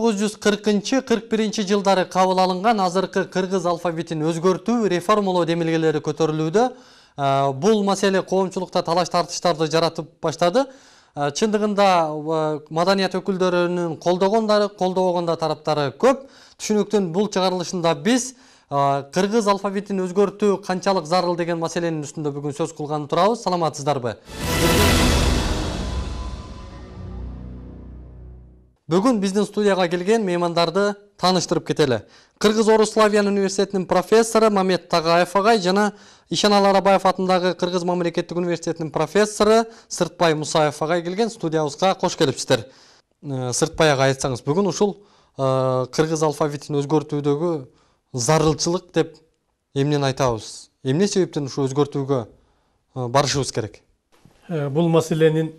1940-41 жылдары кабыл алынган азыркы кыргыз алфавитин өзгөртүү, реформалоо демилгелери көтөрүлүүдө. Бул маселе коомчулукта талаш тартыштарды жаратып баштады. Чындыгында маданият өкүлдөрүнүн колдобогондо тараптары көп. Түшүнүктүн бул чыгарылышында биз кыргыз алфавитин өзгөртүү канчалык зарыл деген маселенин үстүндө бүгүн сөз кылганы турабыз. Саламатсыздарбы? Бүгүн биздин студияга келген меймандарды тааныштырып кетели. Кыргыз-Орус-Славян университетинин профессору Мамет Тагаев агай жана Ишанал Арабаев атындагы Кыргыз мамлекеттик университетинин профессору Сыртбай Мусаев агай келген. Студиябызга кош келипсиздер. Сыртбай агай, айтсаңыз, бүгүн ушул кыргыз алфавитин өзгөртүүдөгү зарылчылык деп эмнени айтабыз? Эмне себептен ушу өзгөртүүгө барышыбыз керек? Бул маселенин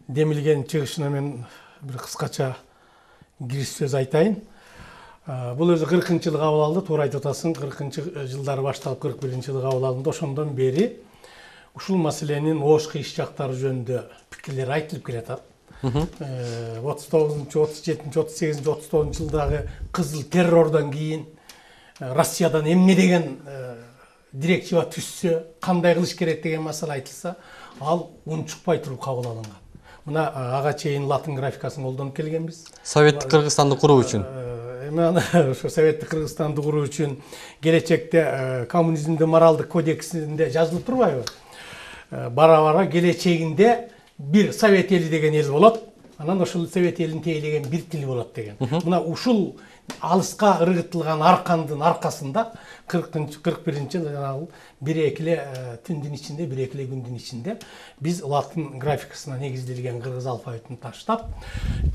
демилген чыгышына мен bir кыскача кириш сөз айтайын. Бул өзү 40-жылы кабыл алды, туура айтып атасың. 40-жылдары башталып 41-жылы кабыл алынды. Ошондон бери ушул маселенин ош кыйыш жактары жөнүндө пикирлер айтылып келатат. 39, 37, 38, 39 жылдагы кызыл террордон кийин Россиядан эмне деген директива түшсө, кандай кылыш керек деген маселе айтылса, ал унчукпай туруп кабыл алынган. Мына ага чейин латын графикасын колдонуп келгенбиз. Советтик Кыргызстанды куруу үчүн. Ошо Советтик Кыргызстанды куруу үчүн келечекте коммунизмдин моралдык кодексинде жазылып турбайбы? Бара-бара келечегинде бир Совет эли деген эл болот. Анан ошол Совет элин тейлеген бир тил болот деген. Мына ушул алыска ыргытылган аркандын аркасында 41-жылы жанагы бир-экиле түндүн ичинде, бир-экиле күндүн ичинде биз латын графикасына негизделген кыргыз алфавитин таштап,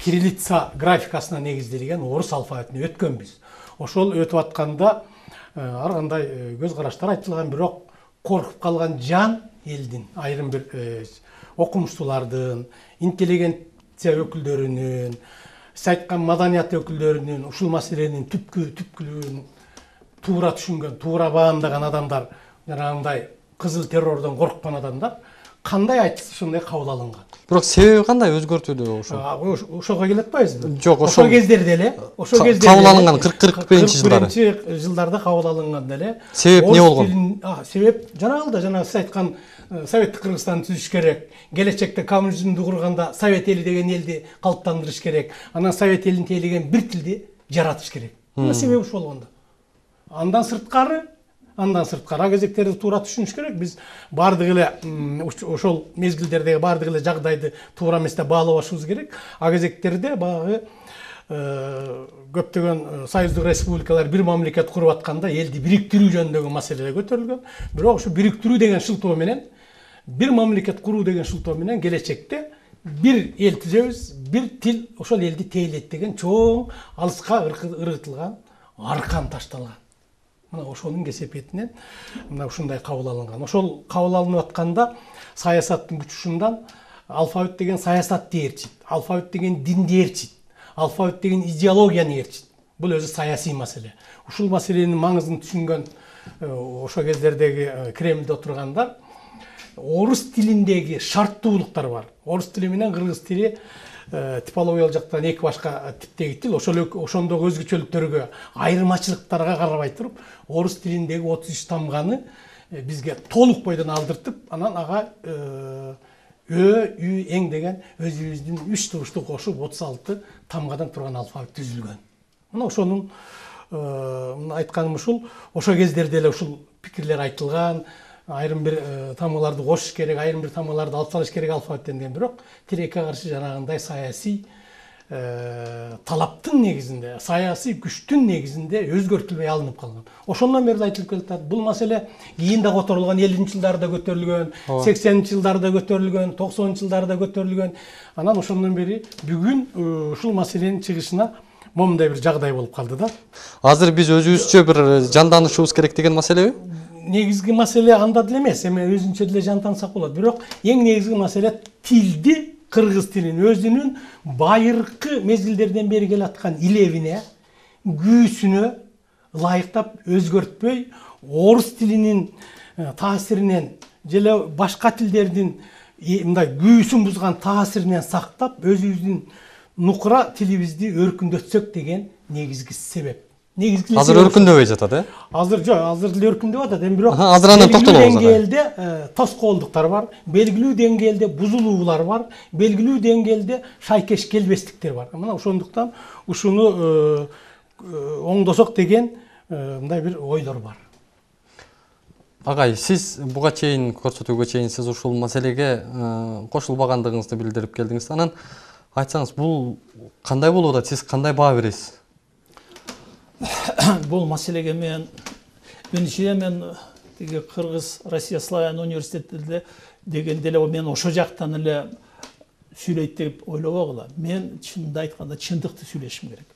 кириллица графикасына негизделген орус алфавитине өткөнбүз. Ошол өтүп атканда ар кандай көз караштар айтылган, бирок коркуп калган жан элдин, айрым бир окумуштуулардын, интеллигенция өкүлдөрүнүн, сайткан маданият өкүлдөрүнүн ушул маселенин түпкүлүгүн туура түшүнгөн, туура баамдаган адамдар, жанагындай кызыл террордон корккан адамдар кандай айтса ошондой кабыл алынган. Бирок себеби кандай өзгөртүүдө ошо? Ошого келип атпайбызбы? Жок, ошол кездерде эле, кабыл алынган 40-41 жылдары. 41 жылдарда кабыл алынган эле. Себеп эмне болгон? Себеп жанагы сиз айткан Советтик Кыргызстанды түзүш керек. Келечекте коммунизмди курганда Совет эли деген элди калыптандырыш керек. Анан Совет элин тейлеген бир тилди жаратыш керек. Мына себеби ушул болгондо. Андан сырткары кезектерди туура түшүнүш керек. Биз бардык эле ошол мезгилдердеги бардык эле жагдайды туура эместе баалабашыбыз керек. Кезектерде баягы көптөгөн союздук республикалар бир мамлекет куруп атканда элди бириктирүү жөнүндөгү маселелер көтөрүлгөн. Бирок ушу бириктирүү деген шылтоо менен, бир мамлекет куруу деген шылтоо менен келечекте бир эл түзөбүз, бир тил ошол элди тейлейт деген чоң алыска ыргытылган аркан ташталган. Мына ошонун кесепетинен мына ушундай кабыл алынган. Ошол кабыл алынып атканда саясаттын күчүшүнөн алфавит деген саясатты ээрчит, алфавит деген динди ээрчит, алфавит деген идеологияны ээрчит. Бул өзү саясий маселе. Ушул маселенин маңызын түшүнгөн ошо кездердеги Кремлде отургандар орус тилиндеги шарттуулуктар бар. Орус тили менен кыргыз тили типологиялык жактан эки башка типтеги тил. Ошондогу өзгөчөлүктөргө, айырмачылыктарга карабай туруп, орус тилиндеги 33 тамганы бизге толук бойдон алдыртып, анан ага үй, эң деген өзүбүздүн 3 турушту кошуп 36 тамгадан турган алфавит түзүлгөн. Мына ошонун айтканым ушул, ошо кездерде эле ушул пикирлер айтылган, айрым бир тамгаларды кошуш керек, айрым бир тамгаларды алып салыш керек алфавиттен деген, бирок тилекке каршы жанагындай саясий талаптын негизинде, саясий күчтүн негизинде өзгөртүлбөй алынып калган. Ошондон бери айтылып келатат. Бул маселе кийин да которулган, 50-жылдарда көтөрүлгөн, 80-жылдарда көтөрүлгөн, 90-жылдарда көтөрүлгөн. Анан ошондон бери бүгүн ушул маселенин чыгышына момундай бир жагдай болуп калды да. Азыр биз өзүбүзчө бир жанданышыбыз керек деген маселеби? Негизги маселе анда деле эмес, эми өзүнчө деле жантансак болот. Бирок эң негизги маселе тилди, кыргыз тилин өзүнүн байыркы мезгилдерден бери келаткан илебине, күүсүнө ылайыктап өзгөртпөй, орус тилинин таасиринен же башка тилдердин мындай күүсүн бузган таасиринен сактап, өзүбүздүн нукура тилибизди өркүндөтсөк деген негизги себеп. Азыр өркүндөбөй жатат, Азыр жок, азыр деле өркүндөп атат. Эми бирок азыр анан токтолобуз. Деңгээлде тоскоолдуктар бар, белгилүү деңгээлде бузулуулар бар, белгилүү деңгээлде шайкеш келбестиктер бар. Мына ошондуктан ушуну оңдосок деген мындай бир ойлор бар. Агай, сиз буга чейин көрсөтүүгө чейин сиз ушул маселеге кошулбагандыгыңызды билдирип келдиңиз. Анан айтсаңыз, бул кандай болуп атат? Сиз кандай баа бересиз? Бул маселеге мен тиги Кыргыз Россия Славян университетинде дегенде эле мен ошо жактан эле сүйлөйт деп ойлобогула. Мен чынында айтканда чындыкты сүйлөшүм керек.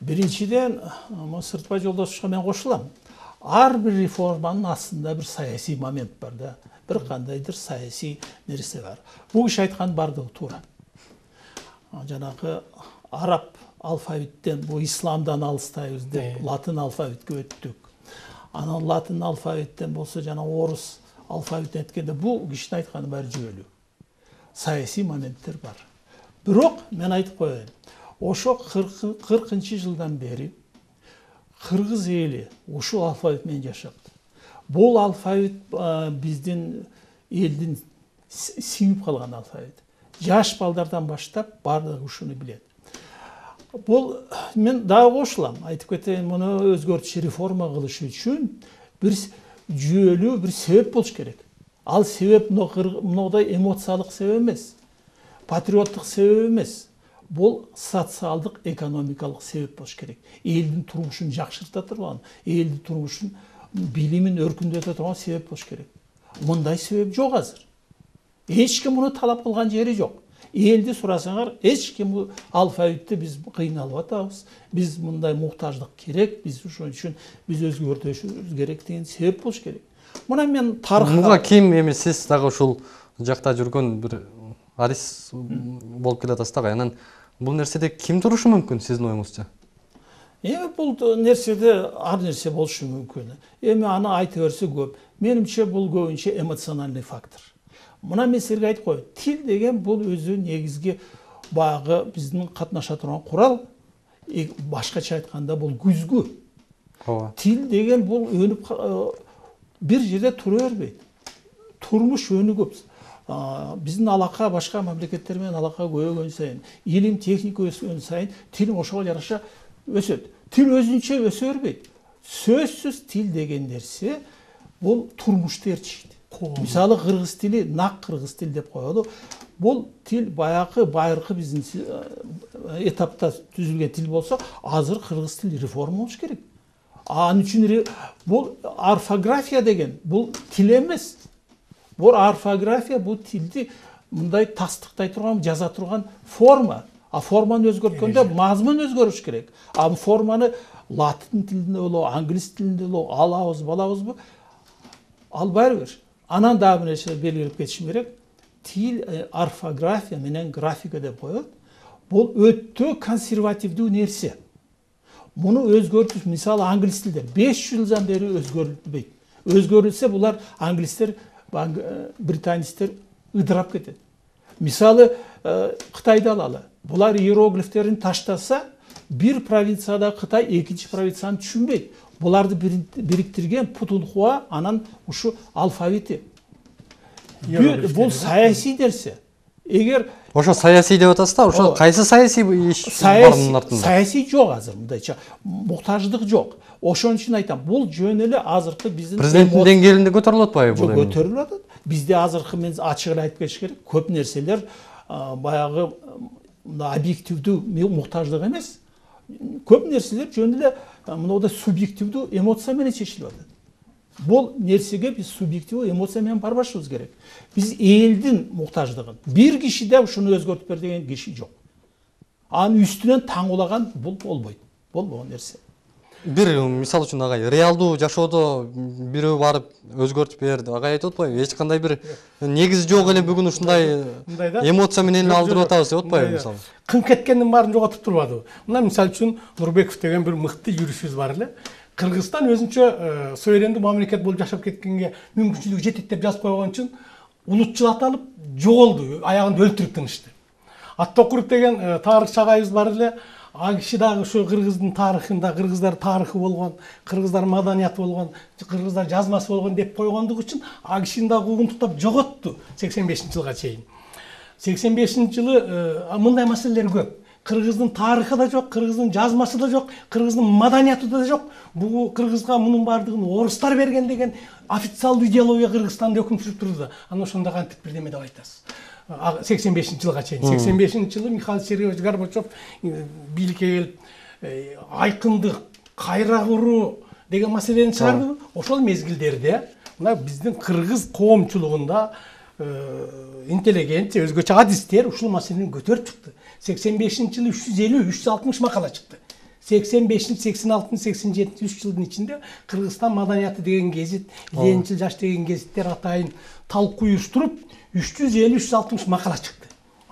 Биринчиден, Сыртбай жолдошко мен кошулам. Ар бир реформанын астында бир саясий момент бар да. Бир кандайдыр саясий нерсе бар. Бул киши айткан бардыгы туура. Жанагы араб алфавиттен, бу исламдан алыстайбыз деп латын алфавитке өттүк. Анан латын алфавиттен болсо жана орус алфавитине эткенде бул кишинин айтканы баары жүйөлүү. Саясий моменттер бар. Бирок мен айтып коеюн. Ошо 40 жылдан бери кыргыз эли ушул алфавит менен жашапты. Бул алфавит биздин элдин сиңип калган алфавит. Жаш балдардан баштап баардыгы ушуну билет. Бул мен дагы кошулам, айтып кетейин, муну өзгөртүш, реформа кылыш үчүн бир жүйөлүү бир себеп болуш керек. Ал себеп мындай эмоциялык себеп эмес, патриоттук себеп эмес. Бул социалдык, экономикалык себеп болуш керек. Элдин турмушун жакшырта турган, элдин турмушун билимин өркүндөтө турган себеп болуш керек. Мындай себеп жок азыр. Эч ким муну талап кылган жери жок. Элди сурасаңар, эч ким алфавитти биз кыйналып атабыз, биз мындай муктаждык керек, биз ошон үчүн биз өзгөртүшүбүз керек деген себеп болуш керек. Мына мен тарыхка Муга ким эми сиз дагы ушул жакта жүргөн бир арис болуп келатасыз да, анан бул нерседе ким турушу мүмкүн сиздин оюңузча? Бул нерседе ар нерсе болушу мүмкүн. Эми аны айта берсе көп. Менимче бул көбүнчө эмоциональный фактор. Мына мен силерге айтып коеюн. Тил деген бул өзү негизги баягы биздин катнаша турган курал. Башкача айтканда бул күзгү. Тил деген бул өнүп бир жерде тура бербейт. Турмуш өнүгөп, биздин алака башка мамлекеттер менен алака көбөйгөн сайын, илим техника өскөн сайын тил ошого жараша өсөт. Тил өзүнчө өсө бербейт. Сөзсүз тил деген нерсе бул турмушты ээрчийт. Мисалы кыргыз тили, нак кыргыз тил деп коелу. Бул тил байыркы биздин этапта түзүлгөн тил болсо, азыр кыргыз тили реформа болуш керек. Анын үчүн бул орфография деген бул тил эмес. Бул орфография бул тилди мындай тастыктай турган, жаза турган форма. А форманы өзгөрткөндө мазмун өзгөрүш керек. А форманы латын тилинде болобу, англис тилинде болобу, алабыз, балабызбы? Албай бер. Анан дагы бир нерсе белгилеп кетишим керек. Тил орфография менен графика деп коет. Бул өтө консервативдүү нерсе. Муну өзгөртүш, мисалы англис тилде 500 жылдан бери өзгөрүлбөйт. Өзгөрүлсө булар англистер, британецтер ыдырап кетет. Мисалы Кытайды алалы. Булар иероглифтерин таштаса, бир провинцияда Кытай экинчи провинцияны түшүнбөйт. Буларды бириктирген Путунхуа, анан ушу алфавити. Бул саясий нерсе. Эгер ошо саясий деп атасыз да, ошо кайсы саясий иш барынын артында? Саясий жок азыр, мындайча муктаждык жок. Ошон үчүн айтам, бул жөн эле азыркы биздин президенттин деңгээлинде көтөрүлүп атпайбы бул? Жок, көтөрүлүп атат. Бизде азыркы мен ачык эле айтып кетиш керек. Көп нерселер баягы объективдүү муктаждык эмес. Көп нерселер жөн эле мындай субъективдүү эмоция менен чечилип атат. Бул нерсеге биз субъективдүү эмоция менен барбашыбыз керек. Биз элдин муктаждыгын, бир кишиде ушуну өзгөртүп бер деген киши жок. Анын үстүнөн таңулаган бул болбойт. Болбогон нерсе. Бир мисал үчүн агай, реалдуу жашоодо бирөө барып өзгөртүп берди. Агай айтып атпайбы? Эч кандай бир негизи жок эле бүгүн ушундай эмоция менен алдырып атабыз деп атпайбы мисалы? Кым кеткендин баарын жоготуп турбадыбы? Мына мисал үчүн Нурбеков деген бир мыкты юристибиз бар эле. Кыргызстан өзүнчө суверендүү мамлекет болуп жашап кеткенге мүмкүнчүлүгү жетет деп жазып койгон үчүн улутчул аталып жоголду, аягында өлтүрүп тынышты. Аттокурук деген тарыхчы агайыбыз бар эле. Ал киши дагы ушу кыргыздын тарыхында кыргыздар тарыхы болгон, кыргыздар маданияты болгон, кыргыздар жазмасы болгон деп койгондугу үчүн ал кишини дагы куугунтуктап жоготту 85-жылга чейин. 85-жылы мындай маселелер көп. Кыргыздын тарыхы да жок, кыргыздын жазмасы да жок, кыргыздын маданияты да жок. Бул кыргызга мунун баардыгын орустар берген деген официалдуу идеология Кыргызстанда өкүм сүрүп турду. Анан ошондо кантип бирдеме деп айтасыз. 85-жылга чейин. 85-жылы Михаил Сергеевич Горбачев бийликке келип айкындык, кайра куруу деген маселени чыгарды. Ошол мезгилдерде мына биздин кыргыз коомчулугунда интеллигенция, өзгөчө адистер ушул маселени көтөрүп чыкты. 85-жылы 350-360 макала чыкты. 85, 86, 87, 3 жылдын ичинде Кыргызстан маданияты деген гезит, Ленинчил жаш деген гезиттер атайын талкуу уюштуруп 350-360 макала чыкты.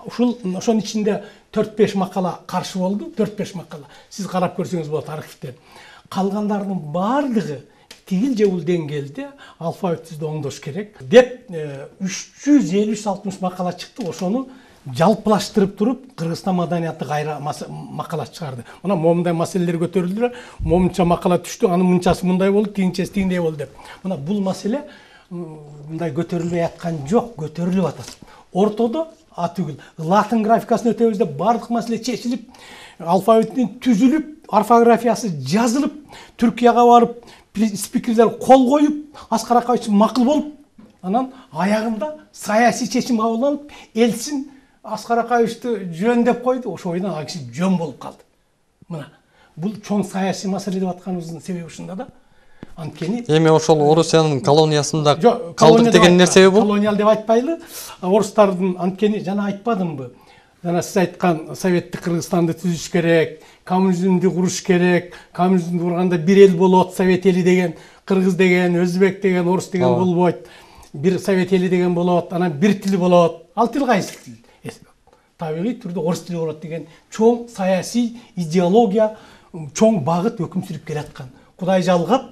Ошонун ичинде 4-5 макала каршы болду, 4-5 макала. Сиз карап көрсөңүз болот архивден. Калгандардын баардыгы тигил же бул деңгээлде алфавит түздү оңдош керек деп 350-360 макала чыкты. Ошону жалпылаштырып туруп Кыргызстан маданияты кайра макала чыгарды. Мына момундай маселелер көтөрүлдү, момунча макала түштү, анын мынчасы мындай болду, тигинчеси тигиндей болду деп. Мына бул маселе мындай көтөрүлбөй аткан жок, көтөрүлүп атат. Ортодо атүгүл латын графикасын өтөбүз деп бардык маселе чечилип, алфавиттин түзүлүп, орфографиясы жазылып, Түркияга барып, спикерлер кол коюп, Аскар Акаевич макул болуп, анан аягында саясий чечим кабылданып, элчин Аскар Акаевичти жөн деп койду, ошо бойдон ал киши жөн болуп калды. Мына бул чоң саясий маселе деп атканыбыздын себеби ушунда да. Анткени эми ошол Орусиянын колониясында калдык деген нерсеби бул? Колониал деп айтпайлы. Орустардын анткени жана айтпадымбы? Жана сиз айткан советтик Кыргызстанды түзүш керек, коммунизмди куруш керек, коммунизмди курганда бир эл болот, совет эли деген, кыргыз деген, өзбек деген, орус деген болбойт. Бир совет эли деген болот, анан бир тил болот. Ал тил кайсы тил? Табигый түрдө орус тили болот деген чоң саясий идеология, чоң багыт өкүм сүрүп келаткан. Кудай жалгап,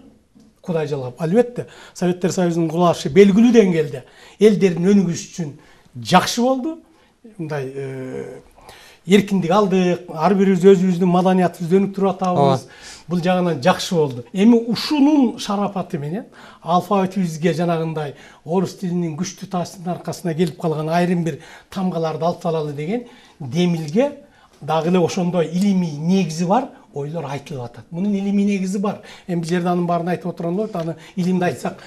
албетте Советтер Союзунун кулашы белгилүү деңгээлде элдердин өнүгүшү үчүн жакшы болду. Мындай эркиндик алдык, ар бирибиз өзүбүздүн маданиятыбызды өнүктүрүп атабыз. Бул жагынан жакшы болду. Эми ушунун шарапаты менен алфавитибизге жанагындай орус тилинин күчтүү таасиринин аркасында келип калган айрым бир тамгаларды алып салалы деген демилге дагы эле ошондой илимий негизи бар ойлор айтылып атат. Мунун илимий негизи бар. Эми бул жерде анын баарын айтып отурган болот, аны илимди айтсак,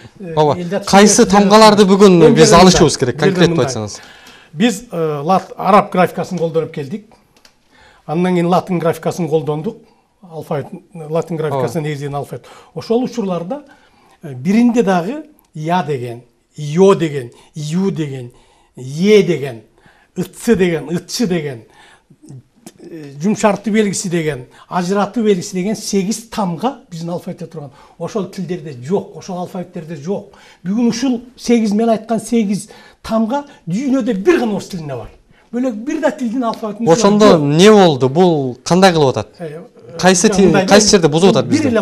кайсы тамгаларды бүгүн биз алышыбыз керек, конкреттүү айтсаңыз. Биз араб графикасын колдонуп келдик. Андан кийин латын графикасын колдондук. Алфавит, латын графикасына негизделген алфавит. Ошол учурларда биринде дагы я деген, йо деген, ю деген, е деген, ытсы деген, ытчы деген, жумшартуу белгиси деген, ажыратуу белгиси деген 8 тамга биздин алфавитте турган. Ошол тилдерде жок, ошол алфавиттерде жок. Бүгүн ушул 8 мен айткан 8 тамга дүйнөдө бир гана орус тилинде бар. Бөлөк бир да тилдин алфавитин. Ошондо не болду? Бул кандай кылып атат? Кайсы жерде бузуп атат бизди? Бир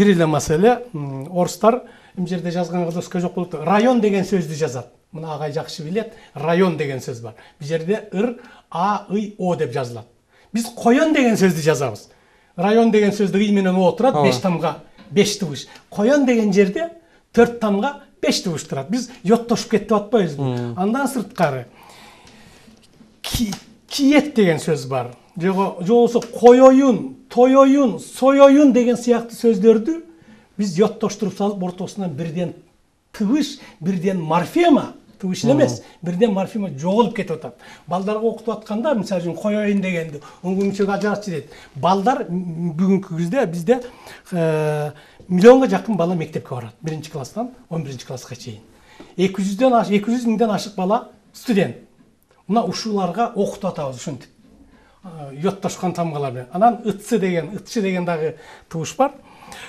эле маселе. Орустар эми жерде жазган кадоска жок болот. Район деген сөздү жазат. Мына агай жакшы билет. Район деген сөз бар. Бул жерде ыр, а, ый, о деп жазылат. Биз коён деген сөздү жазабыз. Район деген сөздү ый менен о турат, 5 тамга, 5 тыбыш. Коён деген жерде 4 тамга, 5 тыбыш турат. Биз йоттошуп кетип атпайбызбы? Андан сырткары киет деген сөз бар. Же болбосо коёюн, тоёюн, соёюн деген сыяктуу сөздөрдү биз йоттоштуруп салып ортосунан бирден тыбыш, бирден морфема, тыбыш эмес, бирден морфема жоголуп кетип атат. Балдарга окутуп атканда, мисалы үчүн коёюн дегенди оңгүнчөк ажыратчы дейт. Балдар бүгүнкү күздө бизде миллионго жакын бала мектепке барат. 1-класстан 11-класска чейин. 200 миңден ашык бала студент. Мына ушуларга окутуп атабыз ушинтип. Йоттошкан тамгалар менен. Анан ытчы деген дагы тыбыш бар.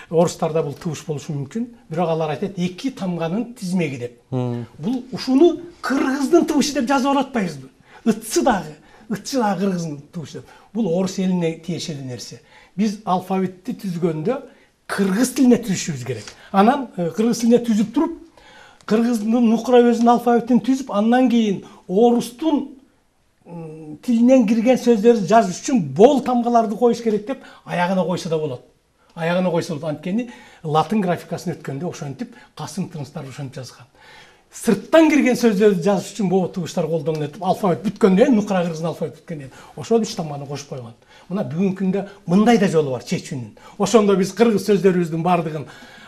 Орустарда бул тыбыш болушу мүмкүн. Бирок алар айтат 2 тамганын тизмеги деп. Бул ушуну кыргыздын тыбышы деп жазып алатпайбызбы? Ытчы дагы кыргыздын тыбышы деп. Бул орус элине тиешелүү нерсе. Биз алфавитти түзгөндө кыргыз тилине түзүшүбүз керек. Анан кыргыз тилине түзүп туруп, кыргыздын нукра өзүнүн алфавитин түзүп, андан кийин орустун тилинен кирген сөздөрдү жазыш үчүн бол тамгаларды коюш керек деп аягына койсо да болот. Аягына койсо болот. Анткени латын графикасын өткөндө ошентип касым тыныстар ошентип жазган. Сырттан кирген сөздөрдү жазыш үчүн боо тугуштар колдонулат деп алфавит бүткөндөн кийин нукра кыргыздын алфавит бүткөндөн кийин ошол 3 тамганы кошуп койгон. Мына бүгүнкү күндө мындай да жолу бар чечүүнүн. Ошондо биз кыргыз сөздөрүбүздүн баардыгын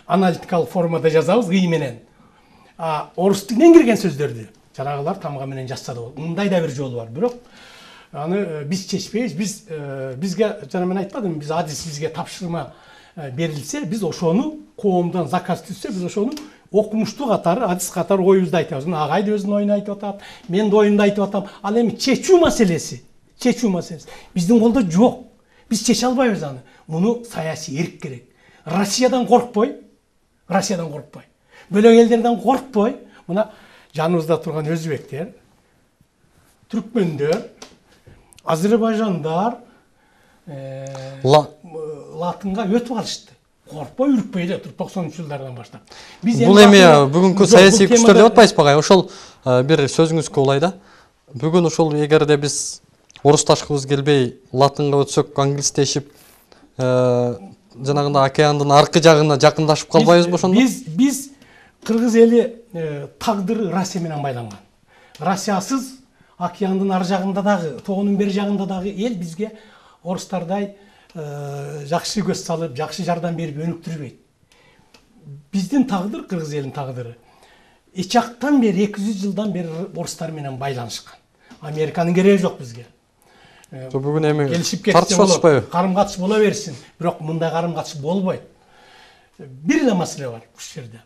аналитикалык формада жазабыз ый менен. Орус тилинен кирген сөздөрдү жанагылар тамга менен жазса да болот. Мындай да бир жолу бар. Бирок аны биз чечпейбиз. Бизге жана мен айтпадымбы, биз адис бизге тапшырма берилсе, биз ошону коомдон заказ түзсө, биз ошону окумуштуу катары, адис катары оюбузду айтабыз. Мына агай да өзүнүн оюн айтып атат, мен да оюмду айтып атам. Ал эми чечүү маселеси биздин колдо жок. Биз чече албайбыз аны. Муну саясий эрк керек. Россиядан коркпой. Бөлөк элдерден коркпой, мына жаныбызда турган өзбектер, түркмөндөр, азербайжандар латынга өтүп алышты. Коркпой, үркпөй эле туруп 90-жылдардан баштап. Бул эми бүгүнкү саясий күчтөр деп атпайсызбы агай? Ошол бир сөзүңүзгө улай да. Бүгүн ошол эгерде биз орусташкыбыз келбей латынга өтсөк, англистешип, жанагындай океандын аркы жагына жакындашып калбайбызбы ошондо? Биз кыргыз эли тагдыры Россия менен байланган. Россиясыз океандын ар жагында дагы, тоонун бери жагында дагы эл бизге орустардай жакшы көз салып, жакшы жардам берип өнүктүрбөйт. Биздин тагдыр, кыргыз элинин тагдыры эч жактан бери 200 жылдан бери орустар менен байланышкан. Американын кереги жок бизге. Бүгүн эми тартышпайбы? Карым-катыш боло берсин, бирок мындай карым-катыш болбойт. Бир эле маселе бар ушул жерде.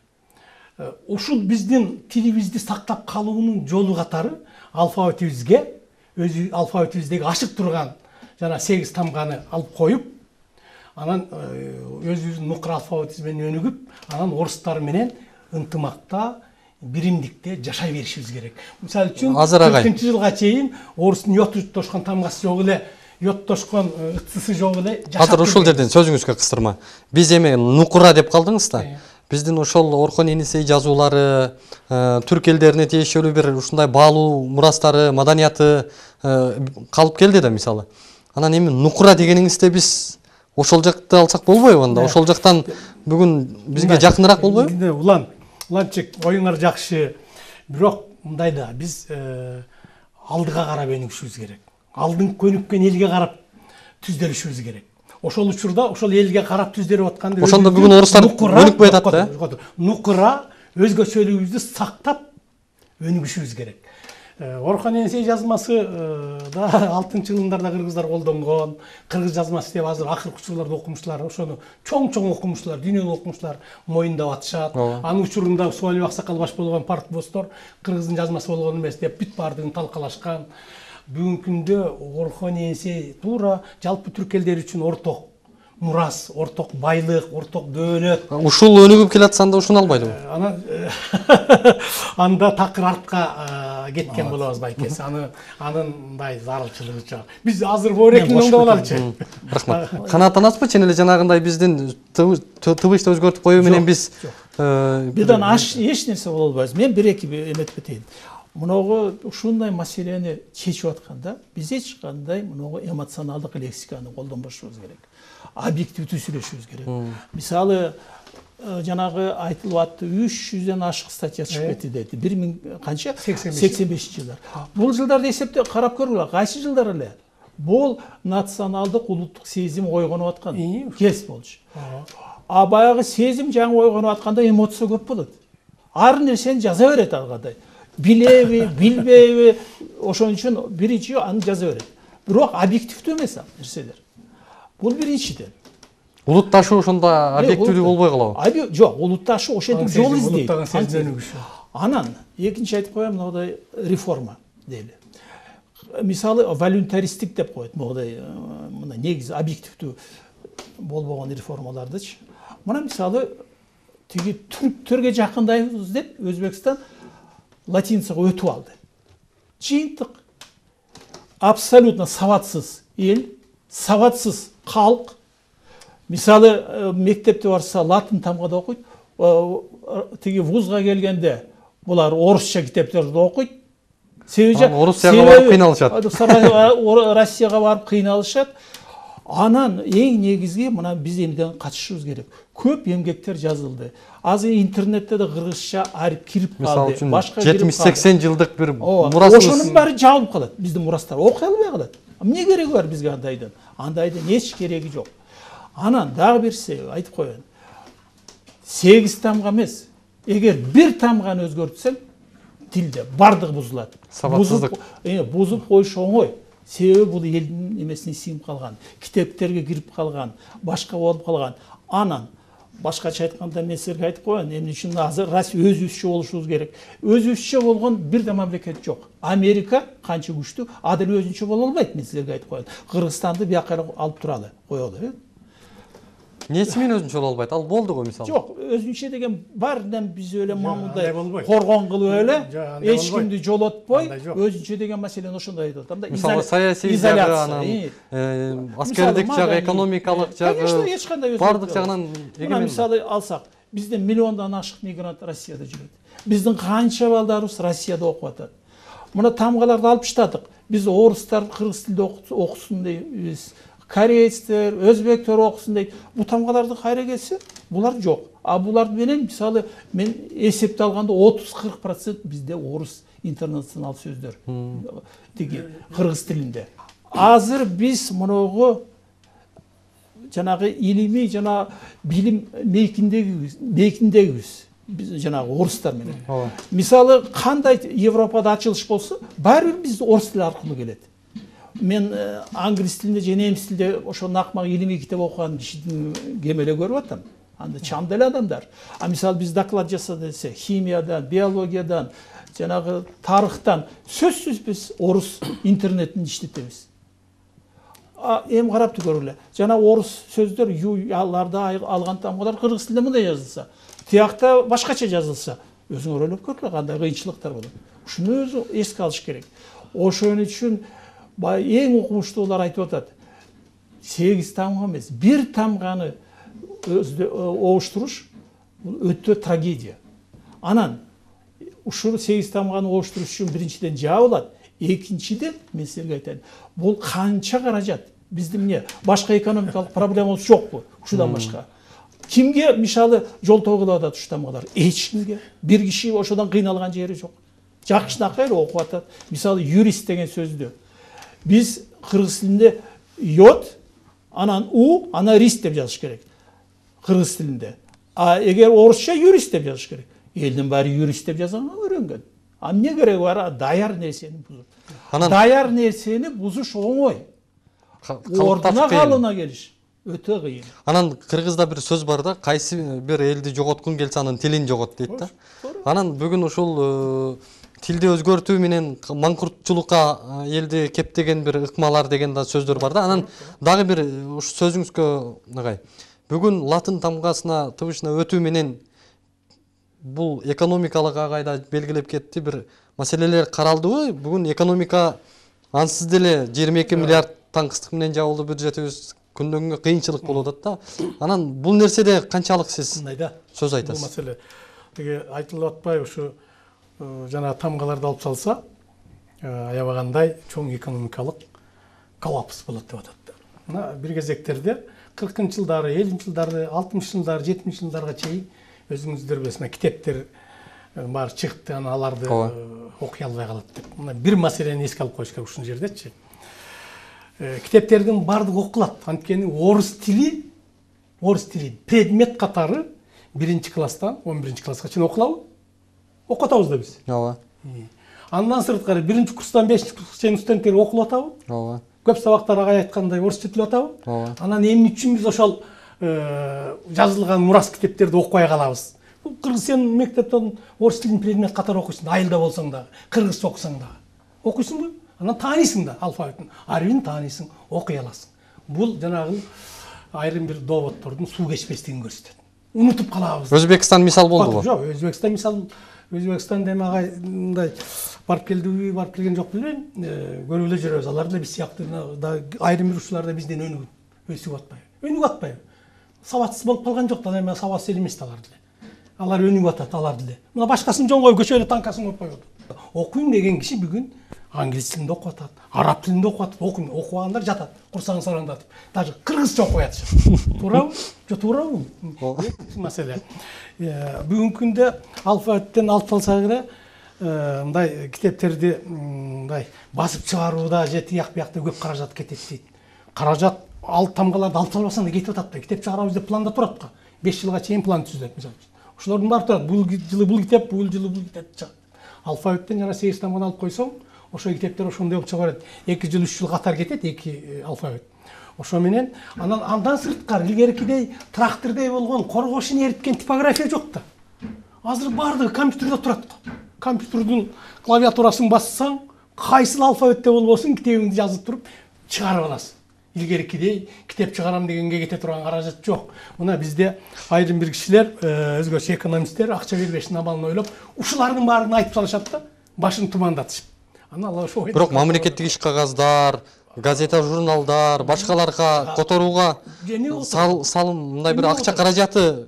Ушул биздин тилибизди сактап калуунун жолу катары алфавитибизге, өзү алфавитибиздеги ашык турган жана 8 тамганы алып коюп, анан өзүбүздүн нукра алфавитибиз менен өнүгүп, анан орустар менен ынтымакта, биримдикте жашай беришибиз керек. Мисалы үчүн 40-жылга чейин орустун йоттошкон тамгасы жок эле, йоттошкон ытсысы жок эле жашап. Азыр ушул жерден сөзүңүзгө кыстырма. Биз эми нукра деп калдыңыз да. Биздин ошол Орхон Енисей жазуулары, түрк элдерине тиешелүү бир ушундай баалуу мурастары, маданияты калып келди да мисалы. Анан эми нукра дегениңизде биз ошол жакты алсак болбойбу анда? Ошол жактан бүгүн бизге жакыныраак болбойбу? Уланчык, оюңар жакшы. Бирок мындай да, биз алдыга карап өнүгүшүбүз керек. Алдын көнүккөн элге карап түздөлүшүбүз керек. Ошол учурда ошол элге карап түздөлүп атканда ошондо бүгүн орустар өнүкпөй атат да. Нукра өзгөчөлүгүбүздү сактап өнүгүшүбүз керек. Орхон Енисей жазмасы да 60-жылдарда кыргыздар колдонгон. Кыргыз жазмасы деп азыр акыркы учурларда окумуштуулар ошону чоң окумуштуулар, дүйнөлүк окумуштуулар моюндап атышат. Анын учурунда Суалиев аксакал баш болгон партбостор кыргыздын жазмасы болгон эмес деп бүт баардыгын талкалашкан. Бүгүнкү күндө Орхон Енисей туура жалпы түрк элдери үчүн орток мурас, орток байлык, орток дөөлөт. Ушул өнүгүп келатса анда ушуну албайдыбы? Анда такыр артка кеткен болобуз байкеси. Анындай зарылчылыгы жок. Биз азыр боорекин оңдоп алалычы. Рахмат. Канааттанасызбы? Чын эле жанагындай биздин тыбышты өзгөртүп коюу менен биз бирден эч нерсе боло албайбыз. Мен бир-эки эметип кетейин. Мыногу ушундай маселени чечип атканда биз эч кандай мыногу эмоционалдык лексиканы колдонбошубуз керек. Объективдүү сүйлөшүбүз керек. Мисалы жанагы айтылып атты 300ден ашык статья чыгып кетти деди. 1000 канча? 85-жылдар. Бул жылдарды эсептеп карап көргүлө, кайсы жылдар эле? Бул националдык улуттук сезим ойгонуп аткан кез болчу. Баягы сезим жаңы ойгонуп атканда эмоция көп болот. Ар нерсени жаза берет алгадай. Билеби, билбейби, ошон үчүн биринчи аны жаза берет. Бирок объективдүү эмес нерселер. Бул биринчиден. Улутташуу ошондо объективдүү болбой калабы? Жок, улутташуу ошентип жол издейт. Анан экинчи айтып коем, мындай реформа дейли. Мисалы волюнтаристик деп коет, мындай негизи объективдүү болбогон реформалардычы. Мына мисалы тиги түрктөргө жакындайбыз деп Өзбекстан латиницага өтүп алды. Жыйынтык абсолютно сабатсыз эл, сабатсыз калк. Мисалы мектепте барса латын тамгада окуйт, тиги вузга келгенде булар орусча китептерди окуйт. Орусияга барып кыйналышат. Россияга барып кыйналышат. Анан эң негизги мына биз эмден качышыбыз керек. Көп эмгектер жазылды. Азыр интернетте да кыргызча арып кирип калды. Башка 70-80 жылдык бир мурасыбыз. Ошонун баары жабылып калат. Биздин мурастар окуй албай калат. Эмне кереги бар бизге андайдын? Андайдын эч кереги жок. Анан дагы бир айтып коеюн. 8 тамга эмес. Эгер бир тамганы өзгөртсең, тилде бардыгы бузулат. Сабатсыздык. Бузуп коюш оңой. Себеби бул элдин эмесине сиңип калган, китептерге кирип калган, башка болуп калган. Анан башкача айтканда мен силерге айтып коеюн, эмне үчүн азыр Россия өзүбүзчө болушубуз керек. Өзүбүзчө болгон бир да мамлекет жок. Америка канча күчтүү, а дел өзүнчө боло албайт, мен силерге айтып коеюн. Кыргызстанды бияка алып туралы, коелу. Эмнеси менен өзүнчө боло албайт? Ал болду го мисалы. Жок, өзүнчө деген бар, биз эле мамылдай коргон кылып эле, эч кимди жолотпой, өзүнчө деген маселени ошондой айтып атам да. Мисалы саясий жагы, анан аскердик жагы, экономикалык жагы, бардык жагынан эгемен. Мисалы алсак, бизде миллиондон ашык мигрант Россияда жүрөт. Биздин канча балдарыбыз Россияда окуп атат. Мына тамгаларды алып таштадык. Биз орустар кыргыз тилде окусун дейбиз. Корейцтер, өзбектер окусун дейт. Бу тамгаларды кайра келсе, булар жок. А булар менен мисалы мен эсепте алганда 30-40% бизде орус интернационал сөздөр. Тиги кыргыз тилинде. Азыр биз мунугу жанагы илимий жана билим мейкиндегибиз. Биз жанагы орустар менен. Мисалы кандай Европада ачылыш болсо, баары бир биз орус тили аркылуу келет. Мен англис тилинде же немис тилинде ошо накмак илимий китеп окуган кишидин кемеле көрүп атам. Анда чам деле адамдар. А мисалы биз доклад жасады десе, химиядан, биологиядан, жанагы тарыхтан сөзсүз биз орус интернетин иштетебиз. Эми карап көргүлө. Жана орус сөздөр юларда алган тамгалар кыргыз тилинде мындай жазылса, тиякта башкача жазылса, өзүңөр ойлоп көргүлө кандай кыйынчылыктар болот. Ушуну өзү эске алыш керек. Ошон үчүн эң окумуштуулар айтып атат. 8 тамга эмес, 1 тамганы обуштуруш өтө трагедия. Анан ушул 8 тамганы обуштуруш үчүн биринчиден жабылат, экинчиден мен силерге айтайын. Бул канча каражат? Биздин эмне? Башка экономикалык проблемабыз жокпу? Ушудан башка. Кимге мисалы жолтоо кылып атат ушу тамгалар? Эч кимге. Бир киши ошодон кыйналган жери жок. Жакшынакай эле окуп атат. Мисалы юрист деген сөздү биз кыргыз тилинде йод, анан у, анан рис деп жазыш керек. Кыргыз тилинде. А эгер орусча юрист деп жазыш керек. Элдин баары юрист деп жазганга үйрөнгөн. А эмне кереги бар? Даяр нерсени бузуш. Даяр нерсени бузуш оңой. Ордуна калыбына келиш өтө кыйын. Анан кыргызда бир сөз бар да, кайсы бир элди жоготкун келсе анын тилин жогот дейт да. Анан бүгүн ушул тилди өзгөртүү менен маңкуртчулукка элди кептеген бир ыкмалар деген да сөздөр бар да. Анан дагы бир ушу сөзүңүзгө агай. Бүгүн латын тамгасына тыбышына өтүү менен бул экономикалык агайда белгилеп кетти, бир маселелер каралдыбы? Бүгүн экономика ансыз деле 22 миллиард таңкыстык менен жабылды бюджетибиз, күндөн күнгө кыйынчылык болуп атат да. Анан бул нерседе канчалык сиз сөз айтасыз? Бул маселе теге айтылып атпай, ушу жана тамгаларды алып салса, аябагандай чоң экономикалык коллапс болот деп атат. Мына бир кезектерде 40-жылдары, 50-жылдары, 60-жылдары, 70-жылдарга чейин өзүңүздөр билесиз, китептер бар чыкты, анан аларды окуй албай калат деп. Мына бир маселени эске алып коюш керек ушул жердечи. Китептердин бардыгы окулат. Анткени орус тили предмет катары 1-класстан 11-класска чейин окулабы? Окутабыз да биз. Ооба. Андан сырткары 1-курстан 5-курска чейин студенттер окулуп атабы? Ооба. Көп сабактар агай айткандай орусча тил атабы? Ооба. Анан эмне үчүн биз ошол жазылган мурас китептерди окубай калабыз? Бул кыргыз сен мектептен орус тилин предмет катары окуйсуң, айылда болсоң да, кыргызча окусаң да. Окуйсуңбу? Анан таанисың да алфавитин, арбин таанисың, окуй аласың. Бул жанагы айрым бир доводдордун суу кечпестигин көрсөтөт. Унутуп калабыз. Өзбекстан мисал болдубу? Жок, Өзбекстан мисал, Өзбекстан деме агай мындай барып келдиби, барып келген жок билбейм. Көрүп эле жүрөбүз. Алар да биз сыяктуу да айрым бир ушуларда бизден өсүп атпайбы? Өнүгүп атпайбы? Сабатсыз болуп калган жок да, эми сабатсыз эле эмес алар деле. Алар өнүгүп атат, алар деле. Мына башкасын жоңгой көчөлө танкасын коюп коет. Окуйм деген киши бүгүн англис тилинде окуп атат, араб тилинде окуп атат, окугандар жатат, курсагын сараңдатып. Даже кыргызча окуп атышат. Туурабы? Жок, туурабы? Маселе. Бүгүнкү күндө алфавиттен алып алсак эле мындай китептерди мындай басып чыгарууда же тияк биякта көп каражат кетет дейт. Каражат тамгаларды алып албасаң да кетип атат да. Китеп чыгарабыз деп планда турат го. 5 жылга чейин план түзүлөт мисалы. Ошолордун баары турат. Бул жылы бул китеп, бул жылы бул китеп чыгат. Алфавиттен жана 8 тамганы алып койсоң, ошо китептер ошондой болуп чыга берет. 2 жыл 3 жыл катар кетет 2 алфавит. Ошо менен андан сырткары илгеркидей трактордой болгон коргошун эриткен типография жок да. Азыр баардыгы компьютерде турат го. Компьютердин клавиатурасын бассаң, кайсыл алфавитте болбосун китебиңди жазып туруп чыгарып аласың. Илгеркидей китеп чыгарам дегенге кете турган каражат жок. Мына бизде айрым бир кишилер, өзгөчө экономисттер акча бербештин абалын ойлоп, ушулардын баарын айтып салышат да, башын тумандатышып. Аны Алла ошо. Бирок мамлекеттик иш кагаздар, газета, журналдар, башкаларга которууга салым мындай бир акча каражаты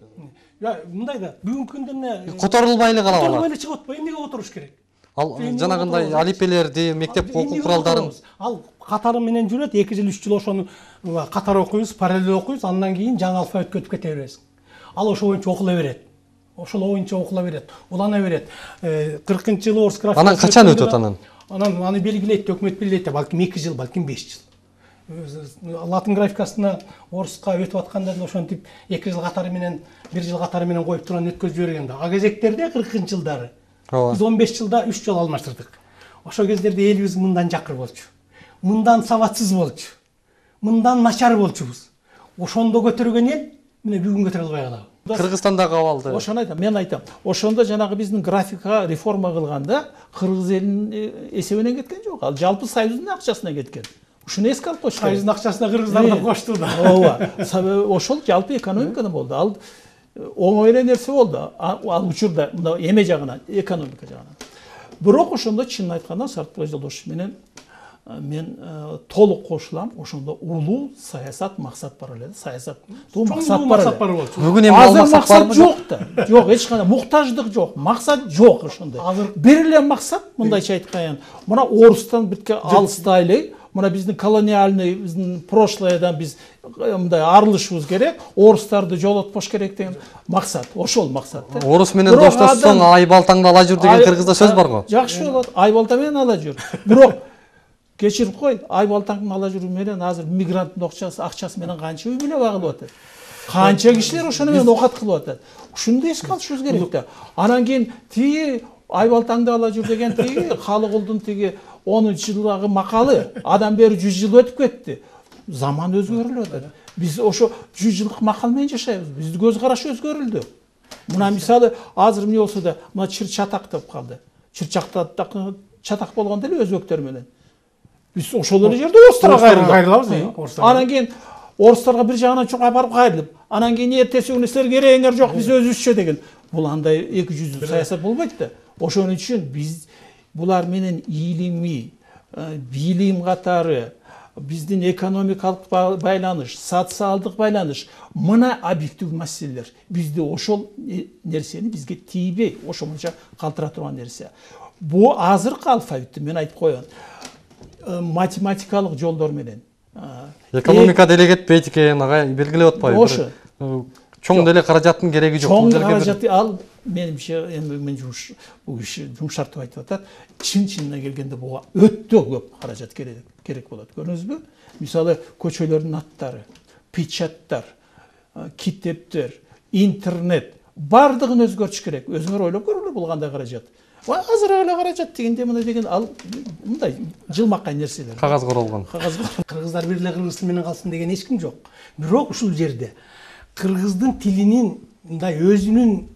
мындай да бүгүнкү күндө эмне которулбай эле калабы? Которулбай эле чыгып атпайбы, эмнеге которуш керек? Ал жанагындай алипелерди, мектеп окуу куралдарын ал катары менен жүрөт, 2 жыл 3 жыл ошону катар окуйбуз, параллель окуйбуз, андан кийин жаңы алфавитке өтүп кете бересиң. Ал ошо боюнча окула берет. Ошол боюнча окула берет, улана берет. 40-жылы орус графикасы. Анан качан өтөт анан? Анан аны белгилейт, өкмөт белгилейт, балким 2 жыл, балким 5 жыл. Латын графикасына оруска өтүп атканда да ошентип 2 жыл катары менен 1 жыл катары менен коюп турган өткөзүп жиберген да. А кезектерде 40-жылдары биз 15 жылда 3 жол алмаштырдык. Ошол кездерде элибиз мындан жакыр болчу. Мындан сабатсыз болчу. Мындан начар болчубуз. Ошондо көтөргөн эл мына бүгүн көтөрө албай калабы. Кыргызстандагы абалды. Ошону айтам, мен айтам. Ошондо жанагы биздин графика реформа кылганда кыргыз элинин эсебинен кеткен жок. Ал жалпы союздун акчасынан кеткен. Ушуну эске алып коюш керек. Союздун акчасына кыргыздар да кошту да. Ооба. Ошол жалпы экономикадан болду. Ал оңой эле нерсе болду. Ал учурда мына эме жагынан, экономика жагынан. Бирок ошондо чынын айтканда Сартбай Жолдошев менен мен толук кошулам. Ошондо улуу саясат максат бар эле. Саясат максат бар эле. Бүгүн эми азыр максат жок да. Жок, эч кандай муктаждык жок. Максат жок ошондой. Бир эле максат, мындайча айтканда, мына орустан битке алыстайлы. Мына биздин колониальный, биздин прошлойдон биз мындай арылышыбыз керек, орустарды жолотпош керек деген максат. Ошол максат да. Орус менен доштошсоң ай балтаңды ала жүр деген кыргызда сөз бар го. Жакшы болот. Ай балта менен ала жүр. Бирок кечирип кой, ай балтаңды ала жүрүү менен азыр мигранттын акчасы менен канча үй бүлө багылып атат. Канча кишилер ошону менен окат кылып атат. Ушуну эске алышыбыз керек да. Анан кийин тиги ай балтаңды ала жүр деген тиги Халыкулдун тиги 10-жылдагы макалы адам бери 100 жыл өтүп кетти. Заман өзгөрүлүп атат. Биз ошо 100 жылдык макал менен жашайбыз. Биздин көз караш өзгөрүлдү. Мына мисалы азыр эмне болсо да, мына чыр-чатак деп калды. Чыр-чатак болгондо эле өзбектер менен. Биз ошол эле жерде орустарга кайрылабыз. Анан кийин орустарга бир жагынан чоң апарып кайрылып, анан кийин эртеси күнү силер керегиңер жок, биз өзүбүзчө деген. Бул андай 200 саясат болбойт да. Ошон үчүн биз булар менен илимий, билим катары, биздин экономикалык байланыш, социалдык байланыш, мына объектив маселелер. Бизде ошол нерсени бизге тийбей, ошонча калтыра турган нерсе. Бу азыркы алфавитти мен айтып коеюн. Математикалык жолдор менен. Экономика деле кетпейт экен, ага белгилеп атпайбы? Ошо. Чоң деле каражаттын кереги жок. Чоң каражат ал менимче эми мен бул иши жумшартып айтып атат. Чын-чынына келгенде буга өтө көп каражат керек болот. Көрдүңүзбү? Мисалы көчөлөрдүн аттары, печаттар, китептер, интернет бардыгын өзгөртүш керек. Өзүңөр ойлоп көрүңүлөр бул кандай каражат. Азыр эле каражат дегенде мына деген ал мындай жылмакай нерселер. Кагаз королгон. Кыргыздар бир эле кыргыз тили менен калсын деген эч ким жок. Бирок ушул жерде кыргыздын тилинин мындай өзүнүн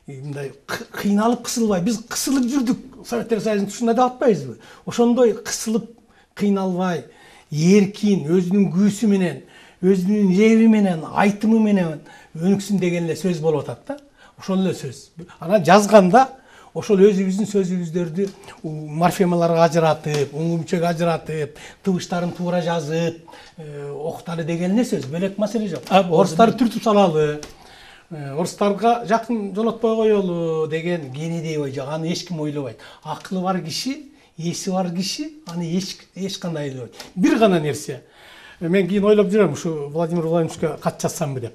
мындай кыйналып кысылбай, биз кысылып жүрдүк. Советтер Союзунун тушунда деп атпайбызбы? Ошондой кысылып, кыйналбай, эркин, өзүнүн күүсү менен, өзүнүн жеби менен, айтымы менен өнүксүн деген эле сөз болуп атат да. Ошол эле сөз. Анан жазганда ошол өзүбүздүн сөзүбүздөрдү морфемаларга ажыратып, уңумчага ажыратып, тыбыштарын туура жазып, окталы деген эле сөз. Бөлөк маселе жок. Орустарды түртүп салалы. Орустарга жакын жолотпой коелу деген кенедей ой жок. Аны эч ким ойлобойт. Акылы бар киши, эси бар киши аны эч кандай ойлобойт. Бир гана нерсе. Мен кийин ойлоп жүрөм, ушу Владимир Владимировичке кат жазсамбы деп.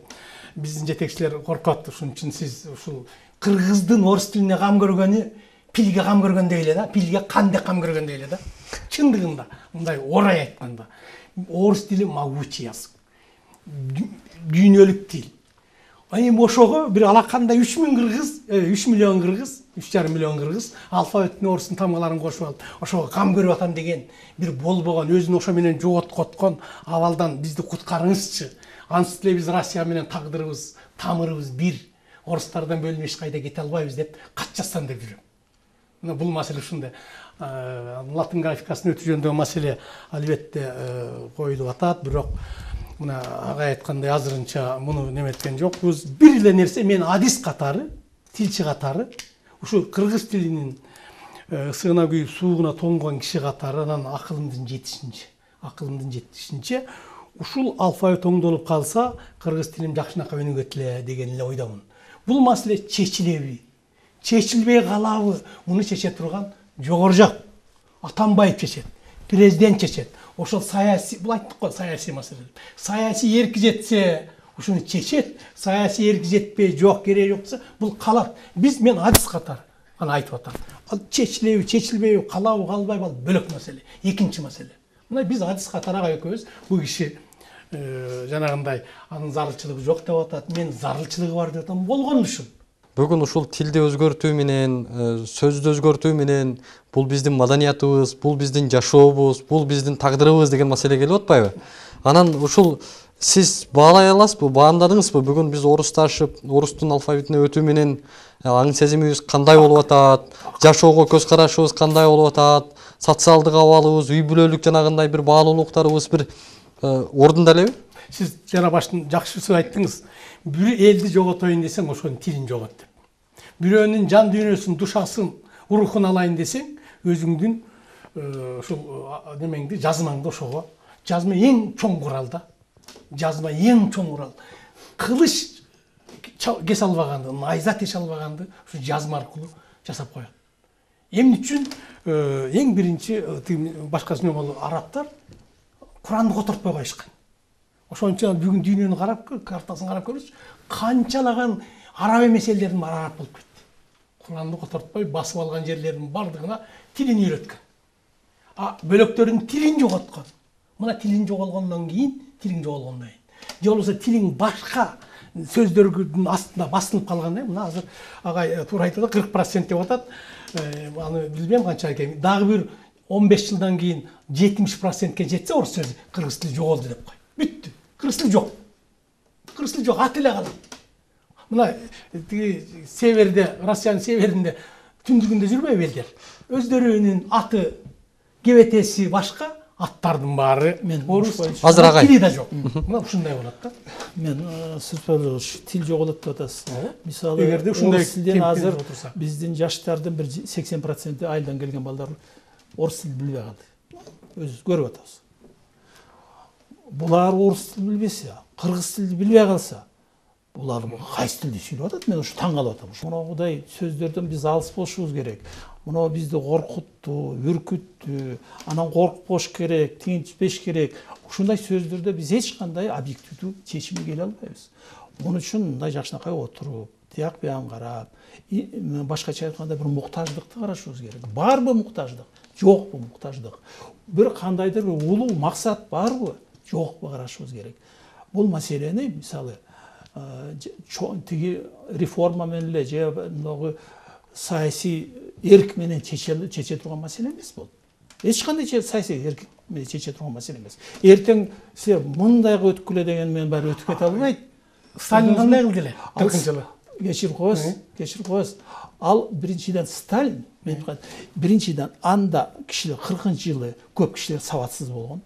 Биздин жетекчилер коркот. Ошон үчүн сиз ушул кыргыздын орус тилине кам көргөнү пилге кам көргөндөй эле да. Пилге кандек кам көргөндөй эле да. Чындыгында мындай орай айтканда орус тили могучий язык. Дүйнөлүк тил. Эми ошого бир алакандай 3 кыргыз, 3 миллион кыргыз, 3,5 миллион кыргыз алфавиттин орустун тамгаларын кошуп алып, ошого кам көрүп атам деген бир болбогон, өзүн ошо менен жоготкоткон абалдан бизди куткарыңызчы. Ансыз деле биз Россия менен тагдырыбыз, тамырыбыз бир. Орустардан бөлүнүп эч кайда кете албайбыз деп кат жазсам деп жүрөм. Мына бул маселе ушундай. Латын графикасын өтүү жөнүндөгү маселе албетте коюлуп атат, бирок мына агай айткандай азырынча муну неметкен жокпуз. Бир эле нерсе мен адис катары, тилчи катары, ушу кыргыз тилинин сыгына күйүп суугуна тоңгон киши катары анан акылымдын жетишинче ушул алфавит оңдолуп калса, кыргыз тилим жакшынакай өнүгөт эле деген эле ойдомун. Бул маселе чечилеби? Чечилбей калабы? Муну чече турган жогору жак. Атамбаев чечет, президент чечет. Ошол саясий, бул айттык го саясий маселе. Саясий эрки жетсе, ушуну чечет. Саясий эрки жетпей, жок, кереги жок десе, бул калат. Мен адис катары аны айтып атам. Ал чечилеби, чечилбейби, калабы, калбайбы, ал бөлөк маселе. Экинчи маселе. Мына биз адис катары ага экөөбүз бул киши жанагындай анын зарылчылыгы жок деп атат. Мен зарылчылыгы бар деп атам. Болгон ушул. Бүгүн ушул тилди өзгөртүү менен, сөздү өзгөртүү менен бул биздин маданиятыбыз, бул биздин жашообуз, бул биздин тагдырыбыз деген маселе келип атпайбы? Анан ушул сиз баалай аласызбы, баамдадыңызбы? Бүгүн биз орусташып, орустун алфавитине өтүү менен аң сезимибиз кандай болуп атат, жашоого көз карашыбыз кандай болуп атат, социалдык абалыбыз, үй бүлөлүк жанагындай бир баалуулуктарыбыз бир ордунда элеби? Сиз жана баштан жакшы сөз айттыңыз. Бир элди жоготоюн десең, ошонун тилин жогот деп. Бирөөнүн жан дүйнөсүн, душасын, рухун алайын десең, өзүңдүн ушул немеңди, жазмаңды ошого. Жазма эң чоң курал да. Жазма эң чоң курал. Кылыч кесе албаганды, найза теше албаганды ушу жазма аркылуу жасап коет. Эмне үчүн эң биринчи башкасын болу арабтар Куранды котортпой коюшкан. Ошон үчүн бүгүн дүйнөнү карап, картасын карап көрүңүз, канчалаган араб эмес элдердин баары араб болуп кетти. Куранды котортпой басып алган жерлердин бардыгына тилин үйрөткөн. Бөлөктөрдүн тилин жоготкон. Мына тилин жоголгондон кийин, тилиң жоголгондон кийин. Же болбосо тилиң башка сөздөрдүн астында басылып калганда, мына азыр агай туура айтат, 40% деп атат. Аны билбейм канча экен. Дагы бир 15 жылдан кийин 70%ке жетсе орус сөзү, кыргыз тили жоголду деп кой. Бүттү. Кыргыз тили жок. Кыргыз тили жок, ат эле калат. Мына тиги северде, Россиянын северинде түндүгүндө жүрбөйбү элдер? Өздөрүнүн аты, кебетеси башка, аттардын баары орус. Азыр агай тили да жок. Мына ушундай болот да. Мен сөз тил жоголот деп атасыз. Мисалы, эгерде ушундай тилден азыр биздин жаштардын бир 80% айылдан келген балдар орус тилин билбей калды. Өзүбүз көрүп атабыз. Булар орус тилин билбесе, кыргыз тилин билбей калса, булар кайсы тилди сүйлөп атат? Мен ушу таң калып атам. Мынагудай сөздөрдөн биз алыс болушубуз керек. Мына бизди коркутту, үркүттү, анан коркпош керек, тинчпеш керек. Ушундай сөздөрдө биз эч кандай объективдүү чечимге келе албайбыз. Муну үчүн мындай жакшынакай отуруп, тияк биян карап, башкача айтканда бир муктаждыкты карашыбыз керек. Барбы муктаждык? Жокпу муктаждык? Бир кандайдыр бир улуу максат барбы? Жокпу карашыбыз керек. Бул маселени мисалы тиги реформа менен эле же мынагы саясий эрк менен чече турган маселе эмес бул. Эч кандай саясий эрк менен чече турган маселе эмес. Эртең силер мындайга өткүлө деген менен баары өтүп кете албайт. Сталин кандай кылды эле? 40-жылы. Кечирип коесуз. Ал биринчиден Сталин, биринчиден анда кишилер 40-жылы көп кишилер сабатсыз болгон.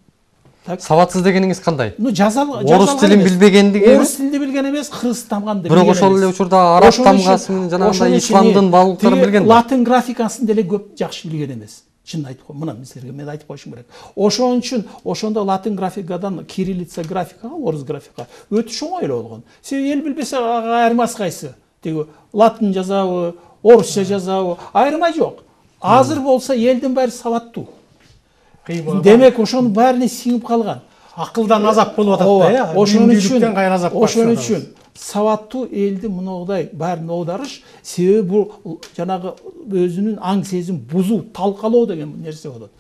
Сабатсыз дегениңиз кандай? Орус тилин билбегендиги эмес? Орус тилин билген эмес, кыргыз тамганды билген эмес. Бирок ошол эле учурда араб тамгасын, жанагындай исламдын баалуулуктарын билген. Латын графикасын деле көп жакшы билген эмес. Чын айтып кой, мына силерге мен айтып коюшум керек. Ошон үчүн ошондо латын графикадан кириллица графикага, орус графикага өтүш оңой эле болгон. Себеби эл билбесе ага айырмасы кайсы? Тиги латын жазабы, орусча жазабы, айырмай жок. Азыр болсо элдин баары сабаттуу. Демек ошонун баарына сиңип калган. Акылдан азап болуп атат да, я. Ошон үчүн сабаттуу элди мындай баарын оодарыш, себеби бул жанагы өзүнүн аң сезим бузуу, талкалоо деген нерсе болот.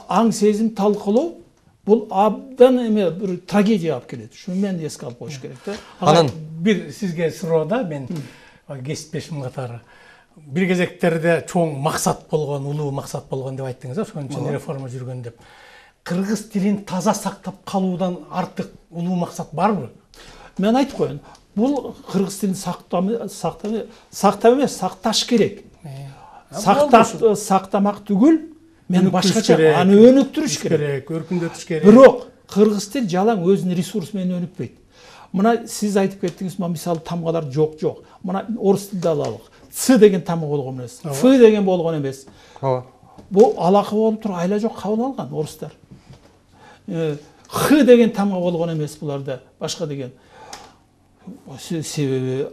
Аң сезим талкалоо бул абдан эме бир трагедия алып келет. Шуну мен эске алып коюш керек да. Анан бир сизге суроо да, мен кесиптешим катары. Бир кезектерде чоң максат болгон, улуу максат болгон деп айттыңыз, ошон үчүн реформа жүргөн деп. Кыргыз тилин таза сактап калуудан артык улуу максат барбы? Мен айтып коеюн, бул кыргыз тилин сактап эмес, сакташ керек. Сактамак түгүл, мен башкача аны өнүктүрүш керек, өркүндөтүш керек. Бирок кыргыз тил жалаң өзүнүн ресурсу менен өнүкпөйт. Мына сиз айтып кеттиңиз, мисалы тамгалар жок. Мына орус тилде алалык. Ц деген тамга болгон эмес, Ф деген болгон эмес. Бул алакы болуп туруп айла жок кабыл алган орустар. Х деген тамга болгон эмес буларда, башка деген. Себеби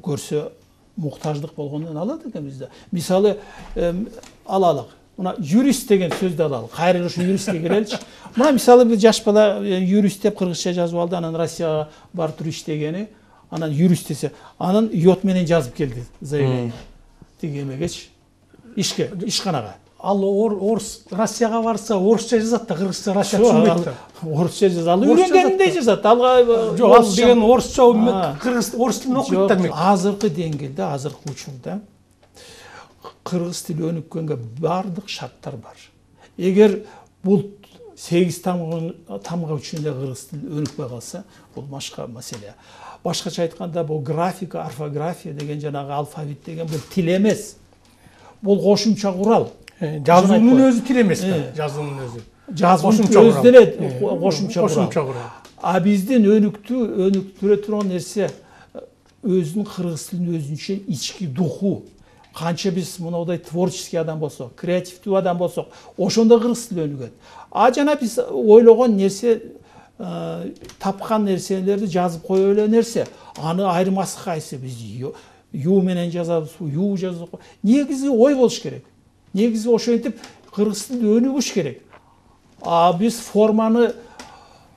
көрсө муктаждык болгондон алат экен бизде. Мисалы алалык. Мына юрист деген сөздү алалык. Кайрылыш юристке келеличи. Мына мисалы бир жаш бала юрист деп кыргызча жазып алды, анан Россияга барып туруп иштегени, анан юрист десе, анан йод менен жазып келди заявление. Тиги эмегечи, ишканага. Ал орус Россияга барса орусча жазат да, кыргызча Россия түшүнбөйт да. Орусча жазат. Ал үйрөнгениндей жазат. Алга жок, ал деген орусча кыргыз орус тилин окуйт да. Азыркы деңгээлде, азыркы учурда кыргыз тили өнүккөнгө бардык шарттар бар. Эгер бул 8 тамга үчүн эле кыргыз тили өнүкпөй калса, бул башка маселе. Башкача айтканда, бул графика, орфография деген жанагы алфавит деген бул тил эмес. Бул кошумча курал. Жазуунун өзү тил эмес да, жазуунун өзү. Жазуунун өзү деле кошумча курал. А биздин өнүктүрө турган нерсе өзүнүн кыргыз тилинин өзүнчө ички духу. Канча биз мындай творческий адам болсок, креативдүү адам болсок, ошондо кыргыз тили өнүгөт. А жана биз ойлогон нерсе, тапкан нерселерди жазып кое эле нерсе. Аны айырмасы кайсы? Биз ю менен жазабыз, ю жазып. Негизи ой болуш керек. Негизи ошентип кыргыз тили өнүгүш керек. А биз форманын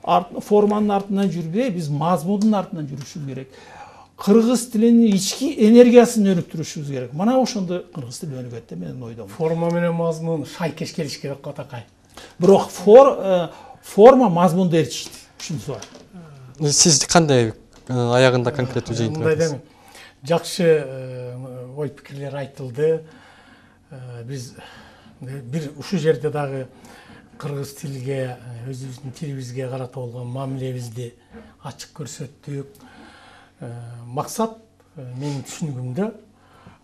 артынан жүрбөй, биз мазмундун артынан жүрүшүбүз керек. Кыргыз тилинин ички энергиясын өнүктүрүшүбүз керек. Мына ошондо кыргыз тили өнүгөт деп мен ойдом. Форма менен мазмун шайкеш келиш керек го такай. Бирок форма мазмунду ээрчишти. Ушунусу бар. Сиз кандай аягында конкреттүү жыйынтык айттыңыз? Жакшы ой пикирлер айтылды. Биз бир ушул жерде дагы кыргыз тилге, өзүбүздүн тилибизге карата болгон мамилебизди ачык көрсөттүк. Максат менин түшүнүгүмдө,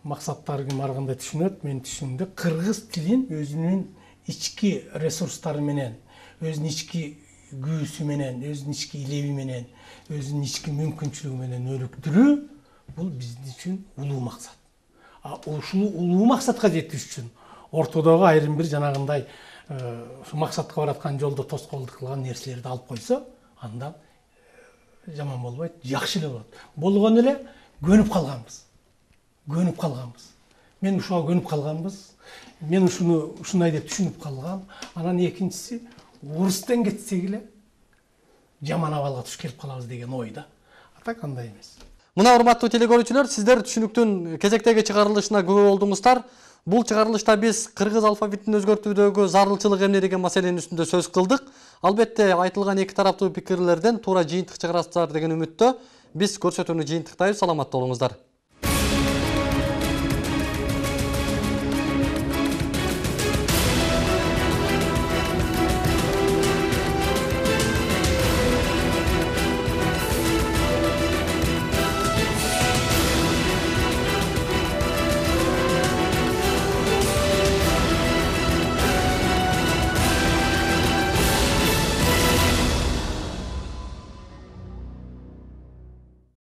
максаттар ким ар кандай түшүнөт, менин түшүнүгүмдө кыргыз тилин өзүнүн ички ресурстары менен, өзүнүн ички күүсү менен, өзүнүн ички илеби менен, өзүнүн ички мүмкүнчүлүгү менен өнүктүрүү бул биздин үчүн улуу максат. Ушул улуу максатка жетиш үчүн ортодогу айрым бир жанагындай ушу максатка бараткан жолдо тоскоолдук кылган нерселерди алып койсо, андан жаман болбойт, жакшы эле болот. Болгон эле көнүп калганбыз. Мен ушуга көнүп калганбыз. Мен ушундай деп түшүнүп калгам. Анан экинчиси, орустан кетсек эле жаман абалга туш келип калабыз деген ойда. Так андай эмес. Мына урматтуу телекөрүүчүлөр, сиздер түшүнүктүн кезектеги чыгарылышына күбө болдуңуздар. Бул чыгарылышта биз кыргыз алфавитин өзгөртүүдөгү зарылчылык эмне деген маселенин үстүндө сөз кылдык. Албетте айтылган эки тараптуу пикирлерден туура жыйынтык чыгарасыздар деген үмүттө биз көрсөтүүнү жыйынтыктайбыз. Саламатта болуңуздар.